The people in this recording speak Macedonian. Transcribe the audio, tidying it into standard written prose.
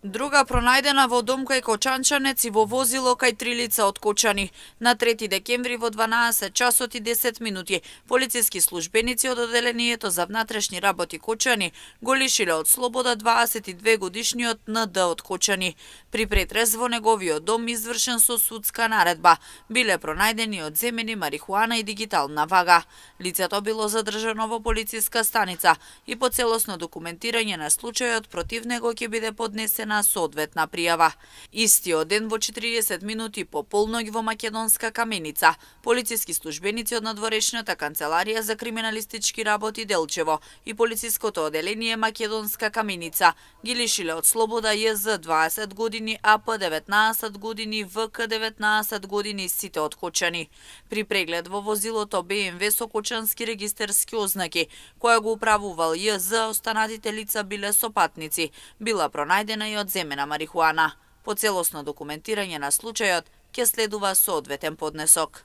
Друга пронајдена во дом кај Кочанчанец и во возило кај 3 лица од Кочани. На 3 декември во 12 часот и 10 минути полициски службеници од одделението за внатрешни работи Кочани го лишиле од слобода 22 годишниот НД од Кочани. При претрес во неговиот дом извршен со судска наредба биле пронајдени одземени марихуана и дигитална вага. Лицето било задржано во полициска станица и по целосно документирање на случајот против него ќе биде поднесена соодветна пријава. Истиот ден во 40 минути по полноќ во Македонска Каменица, полициски службеници од надворешната канцеларија за криминалистички работи Делчево и полициското одделение Македонска Каменица ги лишиле од слобода ЈЗ 20 години, АП 19 години, ВК 19 години сите од Кочани. При преглед во возилото БМВ со кочански регистерски ознаки, која го управувал ЈЗ, останатите лица биле сопатници, била пронајдена и одземена марихуана. По целосно документирање на случајот ќе следува соодветен поднесок.